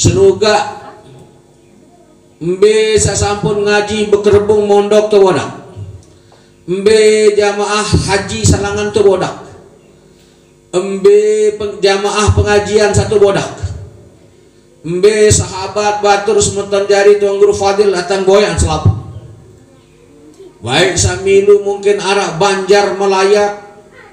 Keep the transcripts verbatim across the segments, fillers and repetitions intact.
Senuga, embe saq sampun ngaji bekerebung mondok tebodak. Embe jamaah haji salangan tebodak. Embe peng-, jamaah pengajian saq tebodak. Embe sahabat batur semeton jari Tuan Guru Fadil dateng boyaqan selapuq. Baik saq milu mungkin araq Banjar Melayat,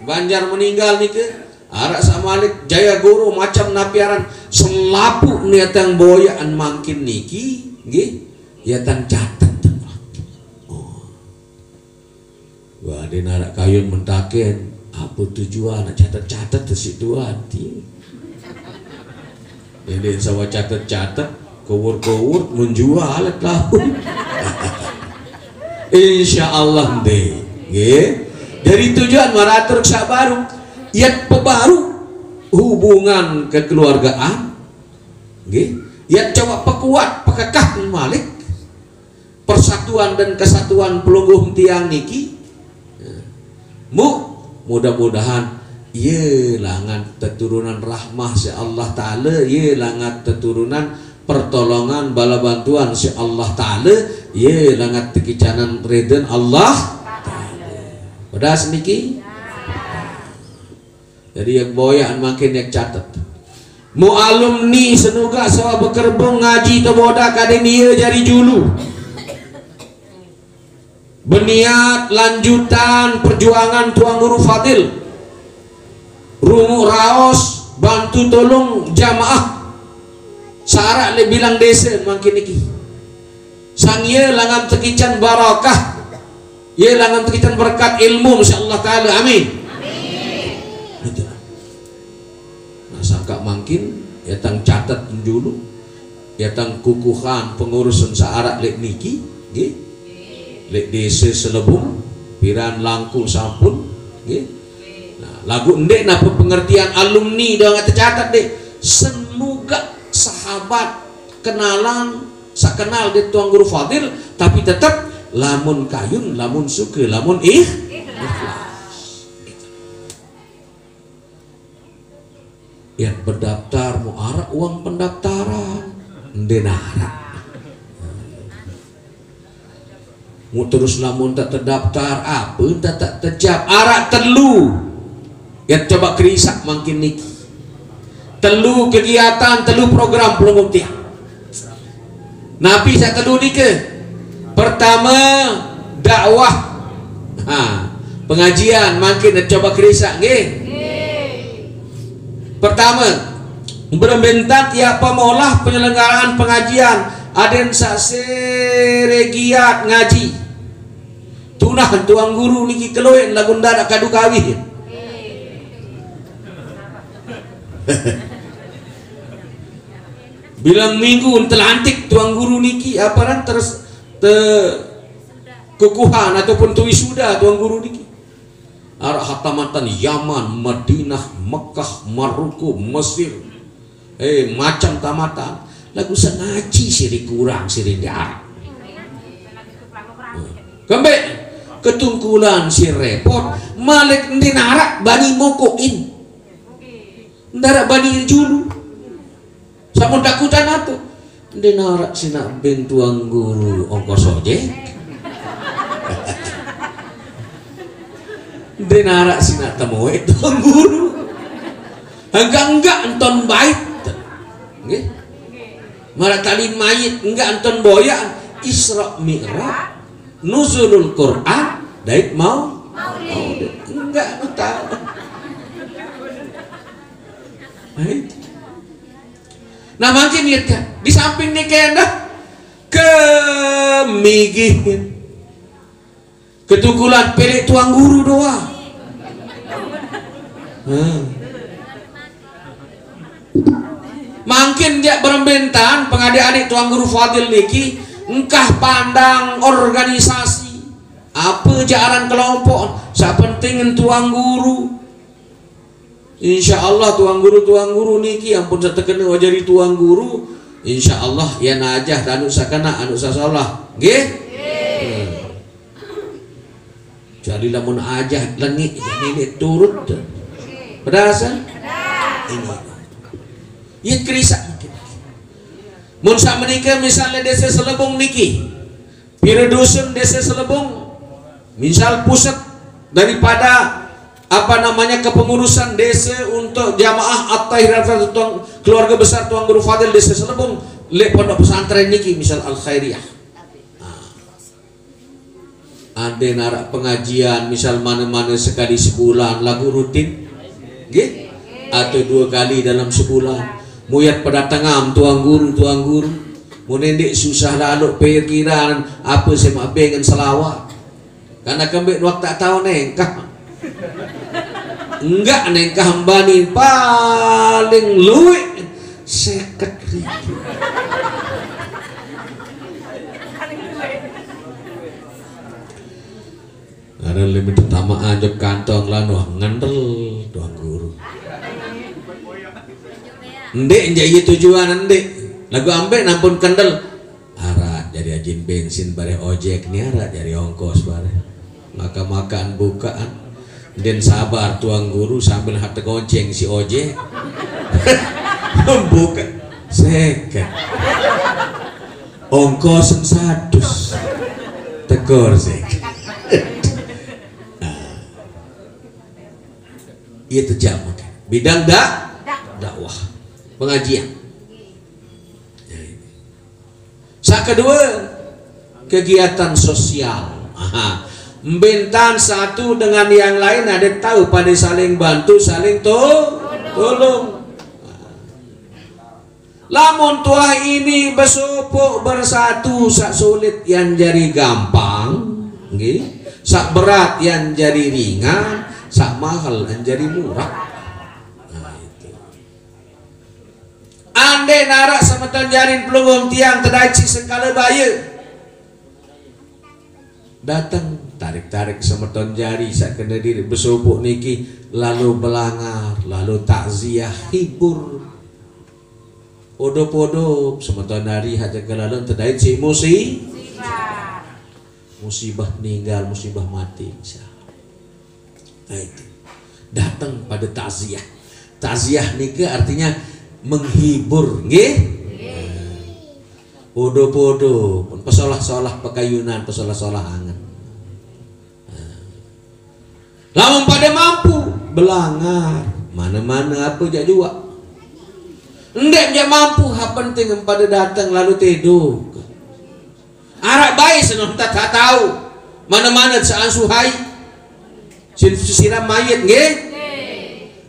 Banjar Meninggal nike, araq saq malik Jaya Guru, macem napi aran, selapuq ne dateng boyaqan mangkin niki, nggih, ye dateng catet. Oh. Wah, ndeq naraq kayun mentaken, ape tujuan nak catet-catet siq tuan, ti. Ndeq sawah catet-catet, kowur-kowur, mun jual taun. Insyaallah ndeq. Nggih. Jari tujuan maratur saq baru, yat pebaru hubungan kekeluargaan, nggih. Yat coba pekuat, pekekah malik persatuan dan kesatuan pelungguh tiang niki. Mu, mudah-mudahan ye langan teturunan rahmah siq Allah Taala, ye langan teturunan pertolongan bala bantuan siq Allah Taala, ye langan tekicanan ridhen Allah Taala. Pedas niki? Jari, ye boyaqan mangkin ye catet. Mu alumni senuga sawah bekerebung ngaji tebodak, kadin ye jari julu. Beniat lanjutan perjuangan Tuan Guru Fadil. Runguq raos, bantu tulung jamaah saq araq leq bilang dese mangkin niki. Sang ye langan tekican barakah, ye langan tekican berkat ilmu, insyaallah taala. Amin. Amin. Gitu. Nah, sangkaq mangkin, ye dateng catet julu, ye dateng kukuhan pengurusan saq araq leq niki, nggih. Leq dese Selebung, piran langkung sampun, nggih. Nah, laguq ndeq napi pengertian alumni doang tecatet, ndeq. Semoga sahabat, kenalan, saq kenal dait Tuan Guru Fadil, tapi tetep lamun kayun, lamun suke, lamun ih-, ikhlas. Yat bedaptar, mu araq uang pendaftaran? Ndeq naraq. Mu terus lamun tak tedaptar, ape ntan tak tejap? Araq telu. Yat coba kerisaq mangkin niki. Telu kegiatan, telu program pelungguh tiang. Napi saq telu nike? Pertame, dakwah. Ha, pengajian mangkin coba kerisaq, nggih. Pertame, berembe ntan tiap pemolah penyelenggaraan pengajian, aden saq sere giat ngaji. Tunah Tuan Guru niki kelueq laguq ndaraq kadu kawih. Bilang minggu telantik Tuan Guru niki, ape aran, terus te-, kukuhan ataupun tewisuda Tuan Guru niki. Araq hatamatan Yaman, Madinah, Mekah, Maroko, Mesir. Eh, macam tamatan. Laguq saq ngaji sire kurang, sire ndaraq. Kembeq ketungkulan sire repot, malik ndeq naraq bani mokoqin. Ndaraq bani julu. Sampun takutan ape? Ndeq naraq sinaq ben Tuan Guru ongkos ojek. Ndeq naraq sinaq temoeq Tuan Guru. Enggak-enggak enton bait. Nggih. Maraq tali mayit enggak enton boyaq, Isra Mi'raj, Nuzulul Quran, dait mau-, Maulid. Enggak tahu. Nah, mangkin niat kan. Di samping nike endah kemigihin. Ketungkulan peleq Tuan Guru doang. Hmm. Mangkin jaq berembe ntan pengadeq-adeq Tuan Guru Fadil niki engkah pandang organisasi. Ape jaq aran kelompok, saq penting Tuan Guru. Insyaallah Tuan Guru, Tuan Guru niki ampun saq tekene wah jari Tuan Guru. Insyaallah ye najah anuq saq kenaq, anuq saq solah. Nggih? Kecuali lamun ajah lengeq, ye ndeq turut. Pedas, eh? Ini. Ye kerisaq mungkin. Mun samenika misalnya desa Selebung niki, pira dusun desa Selebung, misal pusat daripada apa namanya kepengurusan desa untuk jamaah At-Tahir Al-Fadil, keluarga besar Tuan Guru Fadil desa Selebung, lek pondok pesantren niki misal Al Khairiyah. Nah, ade narak pengajian misal mana-mana sekali sebulan lagu rutin, nggih, atau dua kali dalam sebulan. Muyat pada tengam Tuan Guru, Tuan Guru. Mun ndeq susah lalu pikiran apa semak bengen selawat. Karena kembik waktu tak tahu nengkah. Enggak nengkah mbani paling luwih seket ribu. Ada limit pertama anjuk kantong lan wah ngendel Tuan Guru. Ndeq, ndeq iya tujuan ndeq. Lagu ambek nampun kendel. Arak jari ajin bensin bareh ojek ni arak jari ongkos bareh. Maka makan bukaan. Den sabar Tuan Guru sambil hati gonceng si ojek. Buka seket. Ongkosen satus. Tegor seket. Nah, iya tejam, oke. Bidang dak dakwah, pengajian. Sak kedua, kegiatan sosial. Aha. Mbentan satu dengan yang lain ada tahu pada saling bantu, saling to tolong. Lamun tuah ini besopok bersatu sak sulit yang jari gampang, nggih. Sak berat yang jari ringan, sak mahal yang jari murah. Nah, itu. Ande narak semeton jarin pelungguh tiang tedait si sengkala baye. Dateng, tarik-tarik semeton jari sak kene diri besopok niki, lalu belangar, lalu takziah, hibur. Odo-podo semeton hari haja kelalen tedait si musi musibah, meninggal, musibah mati, insya Allah. Nah, itu. Datang pada takziah. Takziah nika artinya menghibur, nggih. Podo-podo pun pesolah-solah pekayunan, pesolah-solah angen. Nah. Lamun pada mampu, belangar, mana-mana apa jak juak. Ndek jak mampu, ha penting pada datang lalu teduk. Arak bae senon tak tahu. Mana-mana seansuhai. Sin siram mayit, nggih.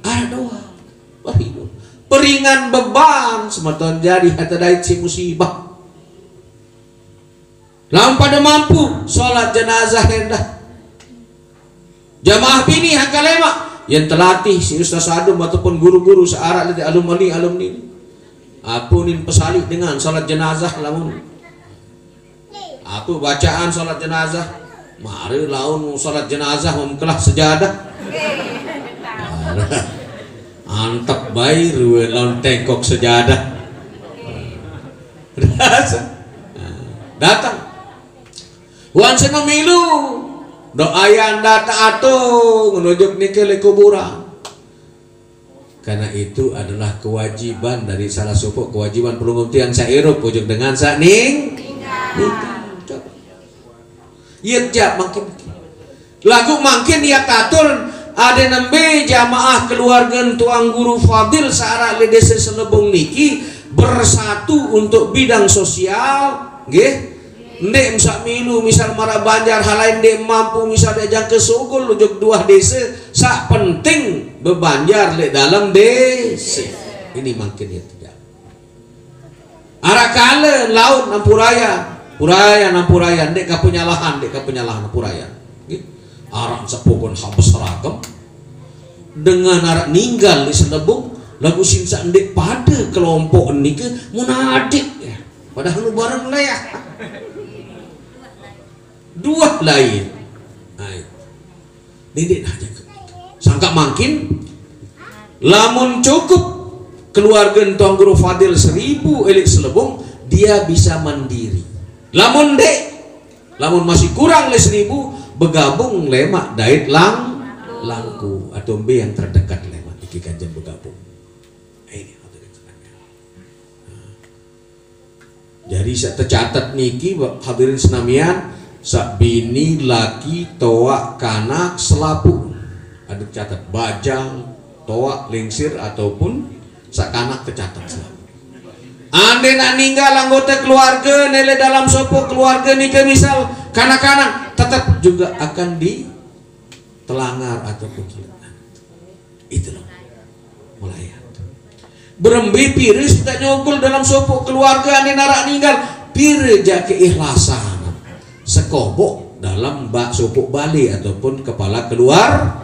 Arak doang. Wah, ibu. Peringan beban semeton jari hata dait si musibah. Lamun pada mampu salat jenazah endah. Jamaah bini hangka lemaq, yen telatih si Ustaz Adum ataupun guru-guru searaq leq alumni, alumni. Apunin pesaliq dengan salat jenazah lamun. Ape bacaan salat jenazah? Mare laun salat jenazah memkelah sejadah. Antep bae rue laun tengkok sejadah. Datang. Wan sing memilu. Doayan datang atung nujuk nike leq kuburan. Karena itu adalah kewajiban dari salah sopoq kewajiban pelungguh tiang saq irup ujung dengan saq ning. Ninggal. Coba. Ye jaq mangkin. Laguq mangkin ye katur ade nembe jamaah keluarge Tuan Guru Fadil saq araq leq Dese Selebung niki bersatu untuk bidang sosial, nggih. Ndeq mesaq milu misal maraq banjar hal lain ndeq mampu misal ndeq jangke sugul ujung duah dese, saq penting bebanjar leq dalem dese. Ini mangkin ye tidak. Araq kale laun ampuraya, puraya ampuraya, ndeq ka penyalahan, ndeq ka penyalahan ampuraya. Nggih. Aran sepukun habes ragem. Dengan araq ninggal leq Selebung, laguq sin saq ndeq pade kelompok nike mun adeq, ya. Padahal nu bareng leah. Duah lain. Nah, ndeq nah jangke. Sangkaq mangkin, lamun cukup keluarge Tuan Guru Fadil seribu leq Selebung, dia bisa mandiri. Lamun ndeq, lamun masih kurang leq seribu, begabung lemaq dait lang-, langku atau mbe yang terdekat lemaq niki kanjen begabung. Ini. Jadi, saq tecatet niki, hadirin senamian, saq bini, laki, toaq, kanak, selapuq. Ada catet bajang, toaq, lingsir, ataupun saq kanak tecatet selapuq. Andene ninggal anggote keluarge, ne leq dalem sopoq keluarge nike misal kanak-kanak, tetep juga akan ditelangar ataupun telengar. Itu loh. Melayat. Berembe pire saq nyogel dalem sopoq keluarge andene araq ninggal, pire jaq keikhlasan. Sekoboq dalem bak sopoq bale ataupun kepala keluar.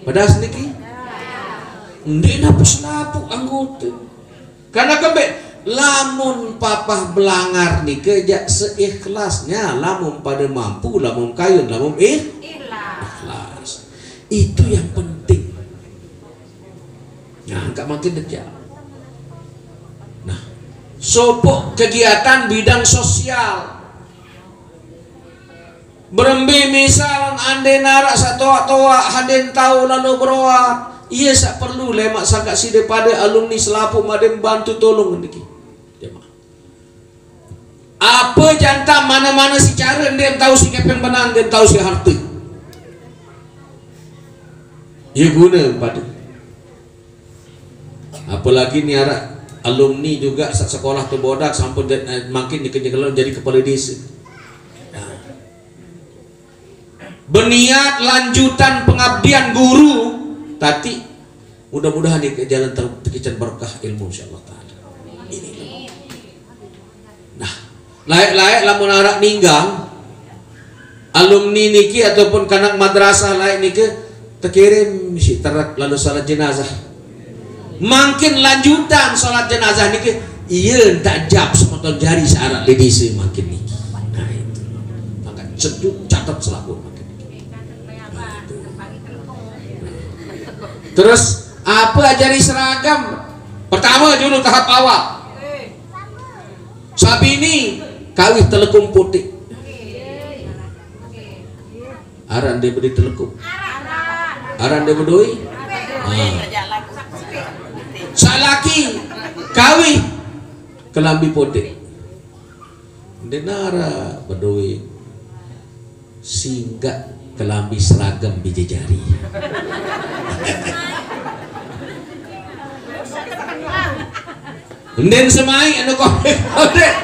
Pedas niki? Ndeq napi selapuq anggote. Karena kembeq, lamun papah belangar nike jaq seikhlasnya, lamun pade mampu, lamun kayun, lamun ikh-, ikhlas. Itu yang penting. Nah, engkaq mangkin dejaq. Nah, sopoq kegiatan bidang sosial. Berembe misal andene araq saq toaq-toaq, andene tao lalo beroat, ie saq perlu lemaq sangkaq side pade alumni selapuq made mbantu tolong niki. Jemaah. Ape jantan mane-mane siq care ndeqm tao siq kepeng benang, ndeqm tao siq harte. Ie gune pade. Apalagi ni araq alumni juga saq sekolah te bodak sampun jad-, eh, mangkin nike nyekel jari kepale dese. Nah. Beniat lanjutan pengabdian guru, tati mudah-mudahan nike jalan ter-, tekicen berkah ilmu, insyaallah taala. Ini. Nah, laeq-laeq lamun araq ninggal, alumni niki ataupun kanak madrasah laeq nike tekirim siq terek lalo salat jenazah. Mangkin lanjutan salat jenazah nike, ie ndeq jap semeton jari saq araq leq dese mangkin niki. Nah, itu. Mangkin sedut catet selapuq mangkin niki. Nah, itu. Terus, ape ajari seragam? Pertame julu tahap awal. Saq bini kawih telekum puteq. Araq ndeq bedoe telekum? Araq ndeq bedoe? Ah. Saq laki kawih kelambi puteq. Ndeq araq bedoe. Singgaq kelambi seragam bije jari. Ndin semaiq anu kodeq-kodeq.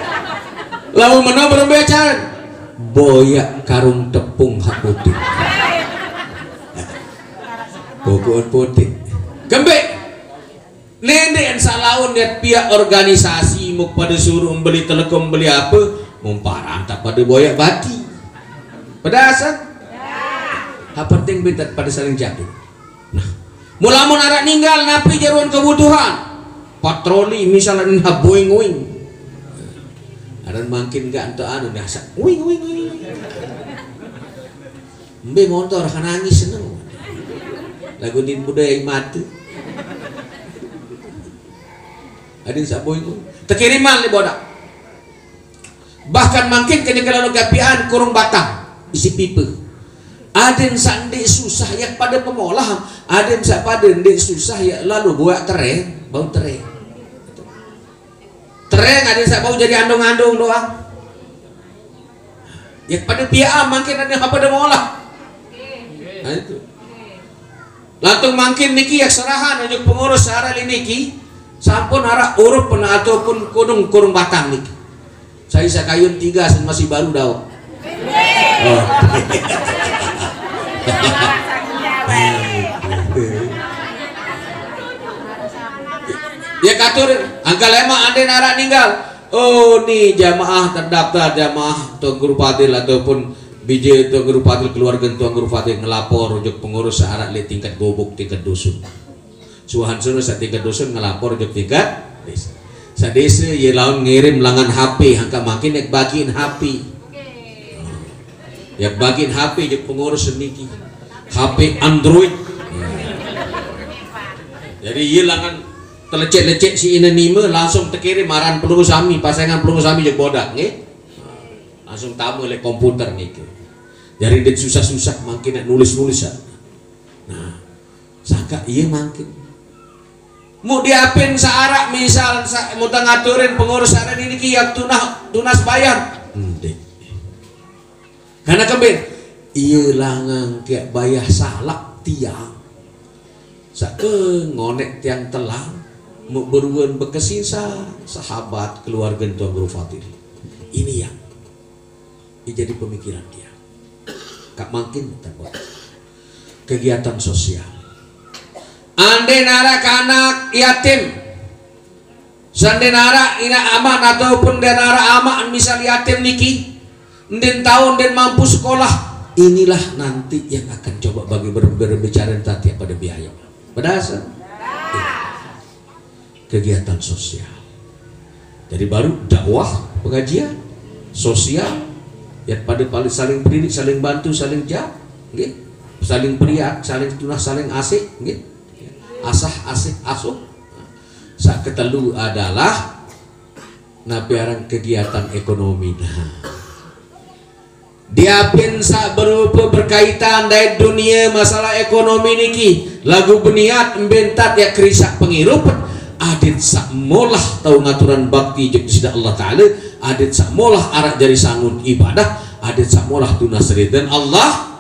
Lamun meno berembe acan? Boyaq karung tepung hak puteq. Pokoqn puteq. Kembeq? Nendeqn saq laun yat piaq organisasi muq pade suruq beli telekom, beli ape, mumparan taq pade boyaq bati. Pedasan? Hak penting betet pade saling jaga. Nah, mulamun araq ninggal, napi jaruan kebutuhan? Patroli, misalne, nah, boing-oing. Aran mangkin gaq ento anu, nah, saq uing, uing, uing. Mbe montor, ha nangis seneng. Lagu din budaya mate. Adin saq boing-oing. Tekiriman leq bodak. Bahkan mangkin kenyeke lalo gapian kurung batang, isi pipe. Aden saq ndeq susah yaq pade pemolahan, aden saq pade ndeq susah yaq lalo boyaq tereng, bau tereng. Tereng aden saq bau jari andung-andung doang. Yaq pade piaqan mangkin aden saq pade molah. Nah, itu. Lantung mangkin niki yaq serahan ojok pengurus saq araq leq niki, sampun araq urup pene ataupun kunung kurung batang niki. Sai saq kayun tiga sen masih baru daoq. Oh. Ye katur, angkaq lemaq aden araq ninggal. Oh, ni jamaah terdaftar, jamaah Tuan Guru Fadil ataupun bije Tuan Guru Fadil, keluarge Tuan Guru Fadil ngelapor ojok pengurus saq araq leq tingkat gubuk, tingkat dusun. Suahan sono saq tingkat dusun ngelapor ojok tingkat dese. Saq dese ye laun ngirim langan H P, angkaq mangkin yaq bagiin H P. Yaq bagiin H P ojok pengurus niki. H P Android. Jadi ye langan telecek-lecek siq ine nime, langsung tekirim aran pelungguh sami, pasengan pelungguh sami ojok bodak, nggih. Langsung tame leq komputer niki. Jari ndeq susah-susah mangkin nulis-nulis, ah. Nah, sangkaq ie mangkin. Mu diapin saarak misal sa, mu tengaturin pengurus saarak niki yak tunah, tunas bayar. Ndeq. Karena kembe, iye langang ke bayah salak tiang. Sake ngonek tiang telang, mu beruen bekesi sa, sahabat keluarge Tuan Guru Fadil. Ini yang jadi pemikiran dia. Kak mangkin tembok. Kegiatan sosial. Ande narak anak yatim, sande narak inak aman ataupun de narak amak misal yatim niki, nden taun nden mampu sekolah, inilah nanti yang akan coba bagi ber-, berbicara tentang tiap pada biaya. Pedas? Kegiatan sosial. Jadi baru dakwah, pengajian, sosial, ya pada paling saling pendidik, saling bantu, saling ja, nggih. Saling periak, saling tunah, saling asik, nggih. Asah, asik, asuh. Sak ketelu adalah napi aran kegiatan ekonomi. Nah, diapin sak berupa berkaitan dait dunia masalah ekonomi niki, lagu beniat mbentat ya kerisak pengirup, adit sak molah tau ngaturan bakti juk sida Allah Taala, adit sak molah arak jari sangun ibadah, adit sak molah tunas ridhen Allah.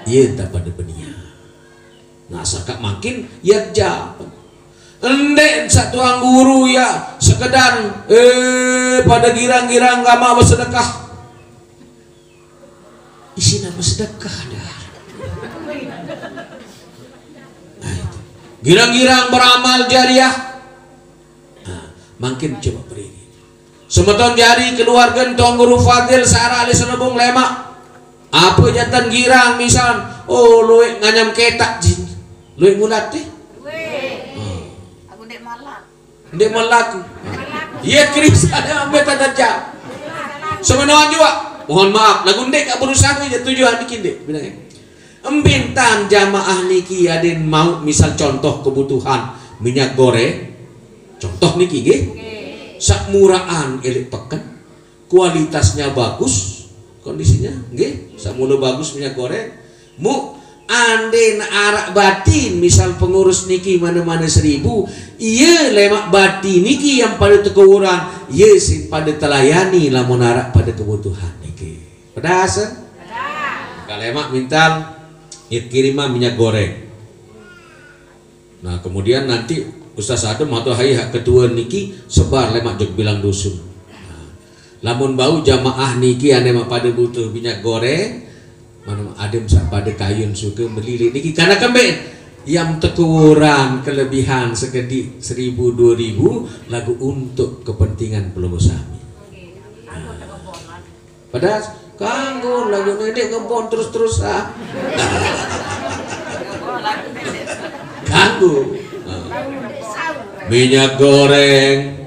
Iya, tak pada beniat. Nah, sakak mangkin ya ja. Endek sak tuang guru ya sekedar, eh, pada girang-girang gamak bersedekah. Isi nama sedekah dah. Nah, itu. Girang-girang beramal jariah. Nah, mangkin coba beri. Semeton jari keluargen Tuan Guru Fadil sara ahli selebung lemak. Apa jantan girang misal, oh, luek nganyam ketak jin. Luek ngulat teh? Hmm. Aku ndeq malak. Ndeq melaku. Iya, Chris ada ambil tata jam. Semenoan juga. Mohon maaf, lagu ndeq gak berusaha aja tujuan dikit ndeq. Bilang ya. Embintan jamaah niki aden mau misal contoh kebutuhan minyak goreng. Contoh niki nggih. Sak muraan elik peken, kualitasnya bagus, kondisinya nggih. Sak mula bagus minyak goreng. Mu, anden arak batin misal pengurus niki mane-mane seribu, iye lemak batin niki yang pada tekeuran, iye sing pada telayani lamun arak pada kebutuhan niki. Pedas, eh? Kalau lemak mintal, ngirim kiriman minyak goreng. Nah, kemudian nanti Ustaz Adem atau hai hak ketua niki sebar lemak jok bilang dusun. Nah, lamun bau jamaah niki ane mak pada butuh minyak goreng, mana adem sak pada kayun suka melilit niki karena kembe yang tekuran kelebihan sekedik seribu dua ribu lagu untuk kepentingan pelungguh sami. Nah, Padahal kanggo lagu ndeq ngebon terus-terusan. Kanggo. Minyak goreng,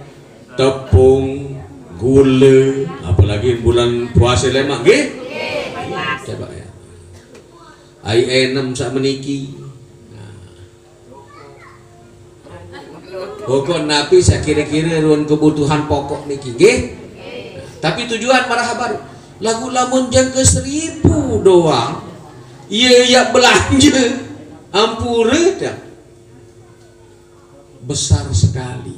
tepung, gula, apalagi bulan puasa lemak nggih. Coba ya. Ai enem sak meniki. Nah. Pokok napi sak kira-kira ruang kebutuhan pokok niki nggih. Tapi tujuan marah baru. Lagu lamun jangka seribu doang, iya ya belanja ampure dah. Besar sekali.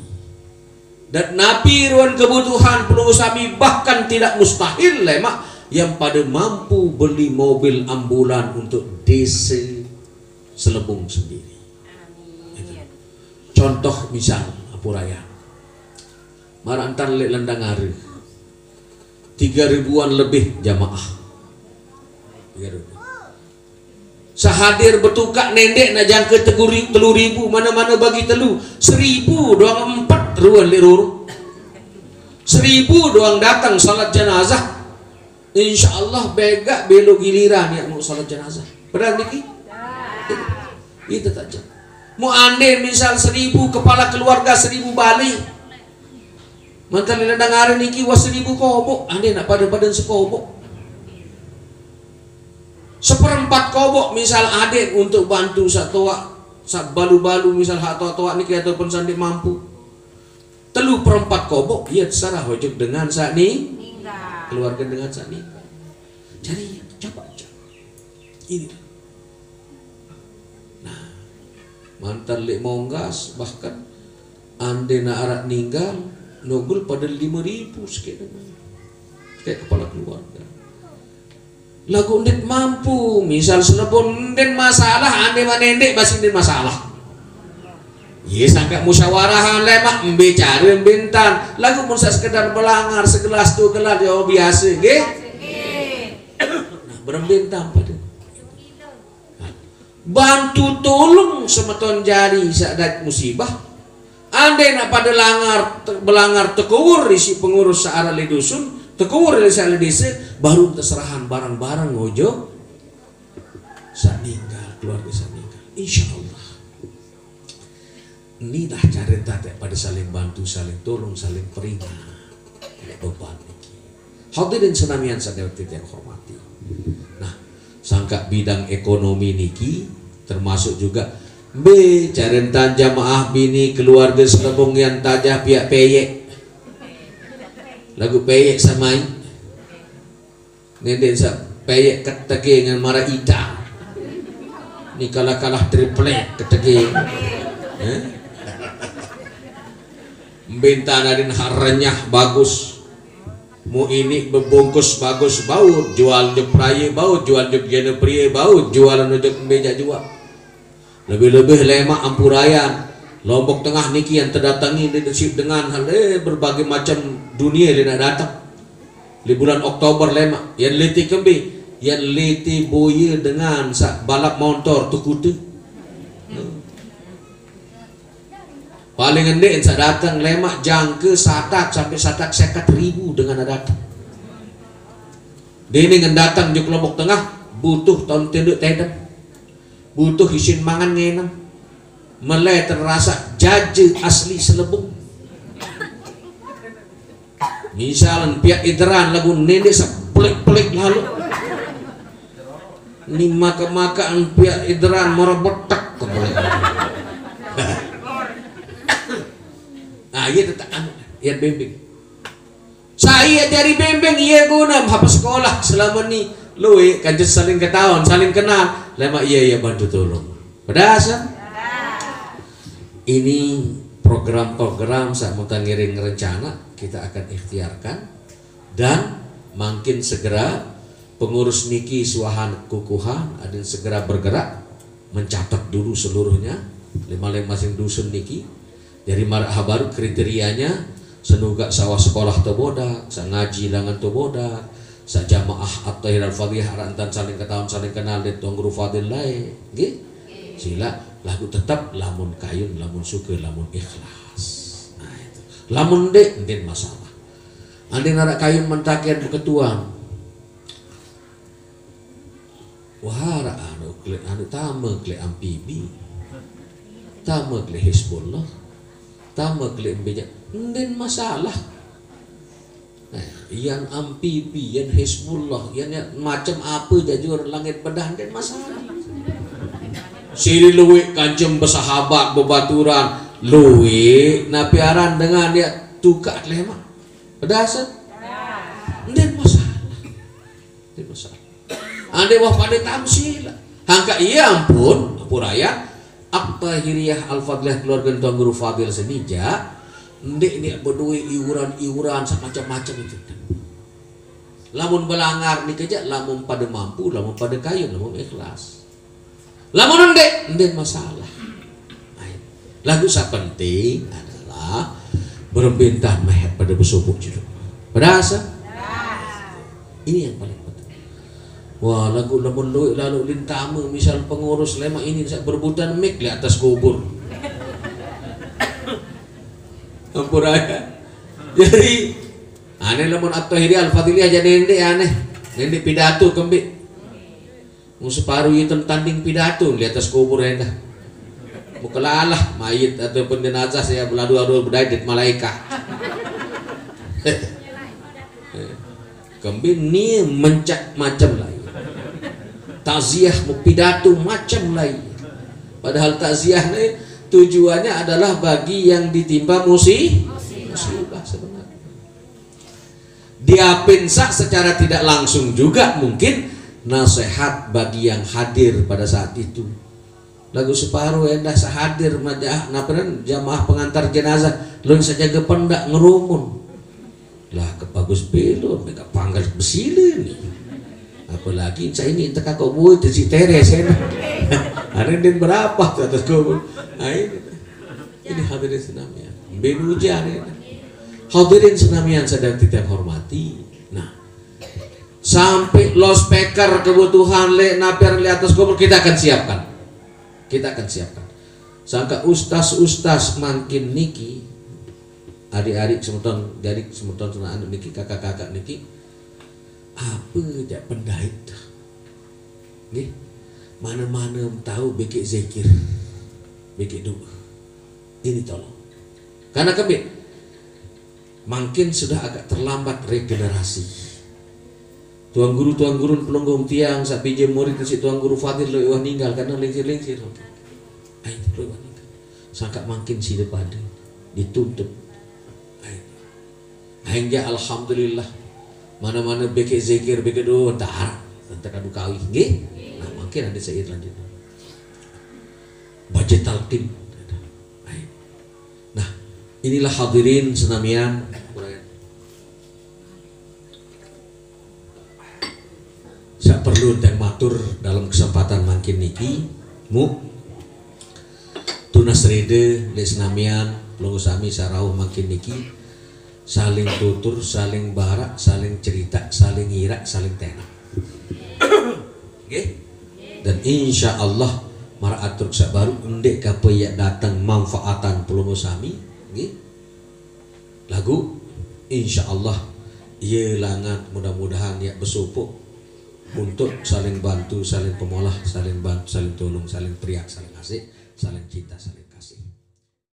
Dan napi ruang kebutuhan pelungguh sami bahkan tidak mustahil lemak yang pada mampu beli mobil ambulan untuk desa Selebung sendiri. Gitu. Contoh misal, apuraya. Marantan leq Lendang Are. Tiga ribuan lebih jamaah. Tiga ribu. Sehadir betukak nendek nak jangka teguri-, telu ribu, mana-mana bagi telu. Seribu doang empat ruan leq roro. Seribu doang datang salat jenazah. Insya Allah begak belo giliran ya mau salat jenazah. Benar niki? Itu tak jam. Mau andai misal seribu kepala keluarga, seribu balik. Mantan lila dengar niki wah seribu kobok, andai nak pada-pada sekobok. Seperempat kobok misal adik untuk bantu satoak, sak balu-balu misal hak toak-toak niki ataupun sandik mampu. Telu perempat kobok, iya terserah ojek dengan sak ni, keluarga dengan sak ni. Jadi, coba aja. Ini. Nah. Mantan lek monggas, bahkan ande na arak ninggal, nogel pada lima ribu sekian. Kayak kepala keluarga. Lagu ndet mampu, misal selebon ndet masalah, ande manendek basi ndet masalah. Ye sangka musyawarah lemak, mbe cara, mbe entan. Lagu mun sak sekedar belangar, segelas tu gelas, ya biasa, nggih. Nah, berembe entan pada. Bantu tolong semeton jari sak dait musibah. Ande nak pada langar, te-, belangar tekewur isi pengurus searak le dusun, tekewur isi searak le desa, baru teserahan barang-barang ngojo sak ninggal, keluarga sak ninggal. Insya Allah. Inilah cara tatek pada saling bantu, saling tolong, saling peringat. Lek beban niki. Hadirin senamian sadaya tiang hormati. Nah, sangka bidang ekonomi niki termasuk juga be cara entan jamaah bini keluarga selebung yang tajah piak peyek. Lagu peyek samai. Nende sa peyek ketege ngan mara ita. Ni kalah-kalah triplek ketege. Eh? Mbe entan adin hak renyah bagus. Mu ini bebungkus bagus baut, jual juk praya baut, jual juk jana pria baut, jual anu juk mbe jak jual. Lebih-lebih lemak ampurayan. Lombok Tengah niki yang terdatangi di desip dengan hal, eh, berbagai macam dunia le nak datang. Di bulan Oktober lemak, yang leti kembe, yang leti boya dengan sak balap motor tu kutu. Paling endek sak datang lemak jangka satak sampai satak seket ribu dengan datang. Dene ngen datang juk Lombok Tengah butuh tahun tenduk tedem. Butuh isin mangan ngenam. Mele terasa jaje asli selebung. Misalan piak ideran lagu nende sepelik-pelik lalu. Ni maka-makaan piak ideran mara betek kepelik. Nah, iya tetap anu, iya bimbing. Saya jari bimbing, iya guna apa sekolah selama ni. Lui kanca saling ketahuan, saling kenal. Lemak iya, iya bantu tolong. Pedas, kan? Ini program-program saat mau ngiring rencana kita akan ikhtiarkan dan makin segera pengurus niki suahan kukuhan adin segera bergerak mencatat dulu seluruhnya lima masing dusun niki. Jadi marak habaru kriterianya senuga sawah sekolah to bodak, sa ngaji langan to bodak, sa jamaah At-Tahir Al-Fadhiyah arak entan saling ketahuan saling kenal di Tuan Guru Fadil lae. Nggih? Sila lagu tetap lamun kayun, lamun suka, lamun ikhlas. Nah, itu. Lamun dek, mungkin masalah. Andin arak kayun mentakian beketuan. Wah, arak anu klik anu tama klik ampibi. Tama klik Hizbullah. Tama klik bejak. Ndin masalah. Nah, yan ampibi, yan Hizbullah, yan, yan macam apa jajur langit bedah, ndin masalah. Siri luwik kancem bersahabat, bebaturan, luwik napi aran dengan dia tukak leh mak. Pedasan? Ndin masalah. Ndin masalah. Ande wah pada tamsil. Hangka iya ampun, ampun raya. At-Tahiriyah Al-Fadliyah keluarga Tuan Guru Fadil senija. Ndik ndik bedue iuran-iuran semacam-macam itu. Lamun belangar ni keja, lamun pada mampu, lamun pada kayun, lamun ikhlas. Lamun ndik, ndik masalah. Lagu sak penting adalah berembintah mehet pada besubuk juduk. Pada asa? Ini yang paling penting. Wah, lagu lamun luik lalu lintama misal pengurus lemak ini sak berebutan mik di atas kubur. Ampun raya. Jadi aneh lamun At-Tahiri Al-Fadili aja nende aneh. Nende pidato kembi. Mu separuh itu tanding pidato di atas kubur endah. Mu kelalah mayit ataupun jenazah saya beladu-adu bedai dit malaikat. Kembi ni mencak macam lain. Takziah mu pidato macam lain. Padahal takziah ni tujuannya adalah bagi yang ditimpa musi-, musibah sebenarnya. Diapin sak secara tidak langsung juga mungkin nasihat bagi yang hadir pada saat itu. Lagu separuh endah sahadir majaah napenan jamaah pengantar jenazah, lun sajaga pendak ngerumun. Lah, ke bagus belum, mega panggal besilin. Apalagi saya ini entah kakak boy, si Teres, ya. Ada yang berapa tuh atas kubur? Nah, ini. Ini hadirin senamian. Bin hujan ini. Hadirin senamian sadang titiang hormati. Nah, sampai loudspeaker kebutuhan le naper le atas kubur kita akan siapkan. Kita akan siapkan. Sangka ustaz-ustaz mangkin niki, adik-adik semeton, adik semeton, sana anak niki, kakak-kakak niki, apa jak pendait tuh? Nggih. Mana-mana tahu bekek zikir, bekek doa. Ini tolong. Karena kami mungkin sudah agak terlambat regenerasi. Tuan guru, tuan guru pelungguh tiang, sak biji murid si tuan guru Fadil lo iwah ninggal karena lingsir-lingsir. Ai, lo iwah ninggal. Sangka mungkin sida pada dituntut. Ai. Hingga alhamdulillah. Mana-mana bekek zikir, bekek doa, entar, entar kadu kawi, nggih. Nah, mungkin ada saya lanjut. Baca talqin. Ai. Nah, inilah hadirin senamian. Sak perlu dan matur dalam kesempatan mangkin niki, mu tunas rede le senamian, pelungguh sami sarauh mangkin niki, saling tutur, saling barak, saling cerita, saling irak, saling tenak. Nggih. Dan insya Allah mara atur sak baru endek kapa yak datang manfaatan pelungguh sami, nggih. Lagu insya Allah ia langat mudah-mudahan yak besupuk untuk saling bantu, saling pemolah, saling bantu, saling tolong, saling periak, saling asik, saling cinta, saling